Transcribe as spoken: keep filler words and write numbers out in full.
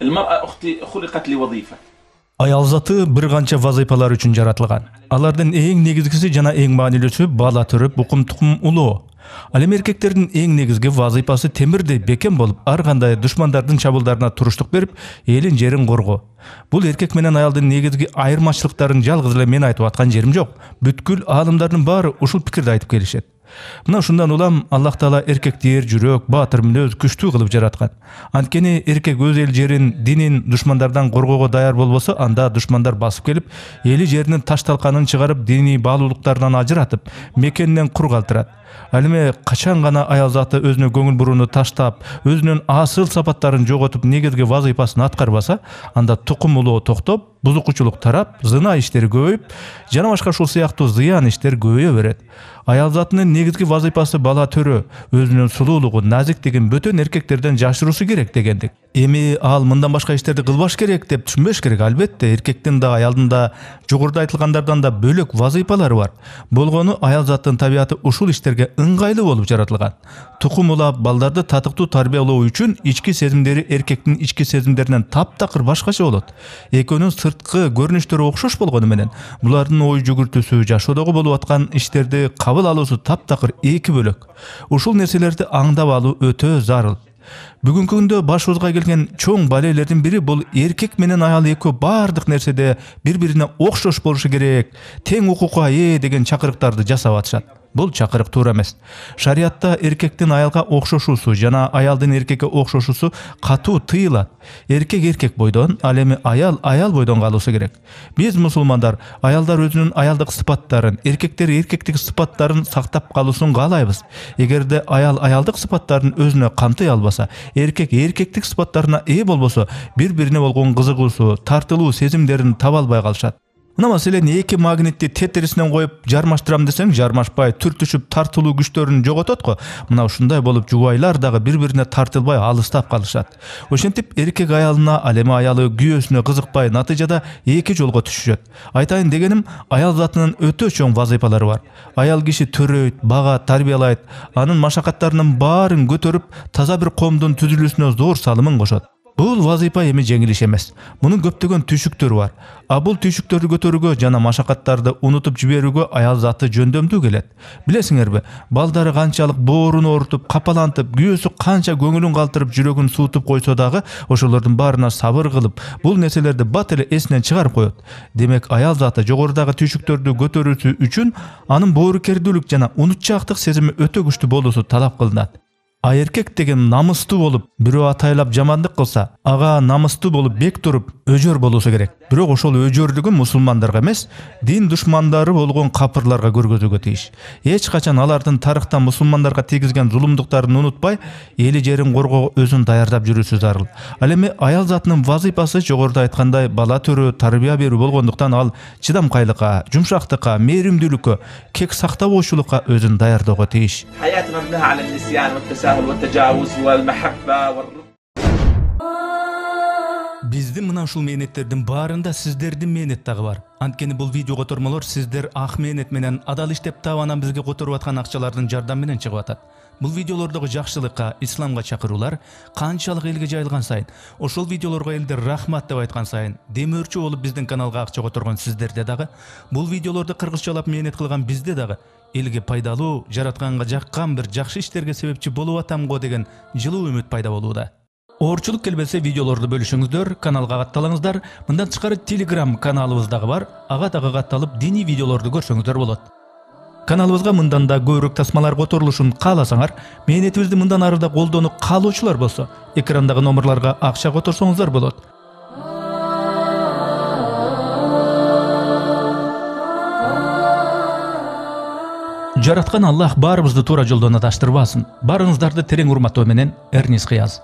المرأة أختي خلقت لوظيفة. Аял заты бир канча вазыйпалар үчүн жаратылган. Алардын эң негизгиси жана эң маанилүүсү бала төрөп, укум-тукум улоо. Ал эми эркектердин эң негизги вазыйпасы темирдей бекем болуп, ар кандай душмандардын чабуулдарына туруштук берип, элин жерин коргоо. Бул эркек менен аялдын негизги айырмачылыктарын жалгыз эле мен айтып аткан жерим жок. Бүткүл аалымдардын баары ушул пикирди айтып келишет. Мына ушундан улам Аллах Таала эркекти эр жүрөк, баатыр мүнөз, күчтүү кылып жараткан. Анткени эркек өз эл жерин, динин душмандардан коргоого даяр болбосо, анда душмандар басып келип, эли жеринин таш-талканын чыгарып, диний баалуулуктарынан ажыратып, мекенинен кур калтырат. Ал эми качан гана аял заты өзүнө көңүл бурууну таштап, өзүнүн асыл сапаттарын жоготуп, негизги вазыйпасын аткарбаса, анда тукум улоо токтоп, бузукучулук тарап, зына иштери көбөйүп, жана башка ушул сыяктуу зыян иштер көбөйө берет. Аял затынын негизги вазыйпасы бала төрөө, өзүнүн сулуулугу, назиктигин бөтөн эркектерден жашыруусу керек дегендик. Эми ал мындан башка иштерди кылбаш керек деп түшүнбөш керек. Албетте, эркектин да, аялдын да жогоруда айтылгандардан да бөлөк вазыйпалары бар. Болгону аял заттын табияты ушул иштерге ыңгайлуу болуп жаратылган. Тукум улап, балдарды татыктуу тарбиялоо үчүн ички сезимдери эркектин ички сезимдеринен таптакыр башкача болот. Экөөнүн сырткы көрүнүштөрү окшош болгону менен, булардын ой жүгүртүүсү, жашоодогу болуп аткан иштерди кабыл алуусу таптакыр эки бөлөк. Ушул нерселерди аңдап алуу өтө зарыл. Бүгүнкү күндө башыбызга келген чоң балелердин бири бул эркек менен аял экөө бардык нерседе бири-бирине окшош болушу керек, тең укукка ээ деген чакырыктарды жасап атышат. Бул чакырык туура эмес. Шариатта эркектин аялга окшошуусу жана аялдын эркекке окшошуусу катуу тыйылат. Эркек эркек бойдон, ал эми аял аял бойдон калуусу керек. Биз мусулмандар аялдар өзүнүн аялдык сыпаттарын, эркектер эркектик сыпаттарын сактап калуусун каалайбыз. Эгерде аял аялдык сыпаттарын өзүнө камтый албаса, эркек эркектик сыпаттарына ээ болбосо, бири-бирине болгон кызыгуусу, тартылуу сезимдерин таба албай калышат. Мына маселен эки магнитти тетерисинен коюп жармаштырам десең, жармашпай, түртүшүп тартылуу күчтөрүн жоготот го. Мына ушундай болуп жубайлар дагы бири-бирине тартылбай алыстап калышат. Ошентип эркек аялына, ал эми аялы күйөөсүнө кызыкпай, натыйжада эки жолго түшүшөт. Айтайын дегеним, аял затынын өтө чоң вазыйпалары бар. Аял киши төрөйт, багат, тарбиялайт, анын машакаттарынын баарын көтөрүп, таза бир коомдун түзүлүүсүнө зор салымын кошот. Бул вазыйпа эми жеңил иш эмес. Мунун көптөгөн түйшүктөрү бар. А бул түйшүктөрдү көтөрүүгө жана машакаттарды унутуп жиберүүгө аял заты жөндөмдүү келет. Билесиңерби, балдары канчалык боорун оорутуп, капалантып, күйөөсү канча көңүлүн калтырып, жүрөгүн суутуп койсо дагы, ошолордун баарына сабыр кылып, бул нерселерди бат эле эсинен чыгарып коет. Демек, аял заты жогорудагы түйшүктөрдү көтөрүүсү үчүн анын боорукердүүлүк жана унутчаактык сезими өтө күчтүү болуусу талап кылынат. А эркек деген намыстуу болуп, бирөө атайлап жамандык кылса, ага намыстуу болуп бек туруп, өжөр болуусу керек. Бирок ошол өжөрлүгүн мусулмандарга эмес, дин душмандары болгон капырларга көргөзүүгө тийиш. Эч качан алардын тарыхта мусулмандарга тийгизген зулумдуктарын унутпай, эли жерин коргоого өзүн даярдап жүрүүсү зарыл. Ал эми аял затынын вазыйпасы жогоруда айткандай бала төрөө, тарбия берүү болгондуктан ал чыдамкайлыкка, жумшактыкка, мээримдүүлүккө, кек сактабоочулукка өзүн даярдоого тийиш. Биздин мына ушул мээнеттердин баарында сиздердин мээнет дагы бар. Анткени бул видео котормолор сиздер ак мээнет менен адал иштеп таап анан бизге которуп аткан акчалардын жардамы менен чыгып атат. Бул видеолордогу жакшылыкка, исламга чакыруулар канчалык элге жайылган сайын, ошол видеолорго элдер рахмат деп айткан сайын, демөөрчү болуп биздин каналга акча которгон сиздерде дагы, бул видеолорду кыргызчалап мээнет кылган бизде дагы элге пайдалуу, жаратканга жаккан бир жакшы иштерге себепчи болуп атам го деген жылуу үмүт пайда болууда. Оорчулук келбесе видеолорду бөлүшүңүздөр, каналга катталыңыздар. Мындан тышкары Telegram каналыбыз дагы бар. Ага дагы катталып, диний видеолорду көрсөңүздөр болот. Каналыбызга мындан да көбүрөөк тасмалар которулушун кааласаңар, мээнетибизди мындан ары да колдонуп каалоочулар болсо, экрандагы номерларга акча которсоңуздар болот. Жараткан Аллах баарыбызды туура жолдон адаштырбасын. Барыңыздарды терең урматтоо менен, Эрнис Кыяз.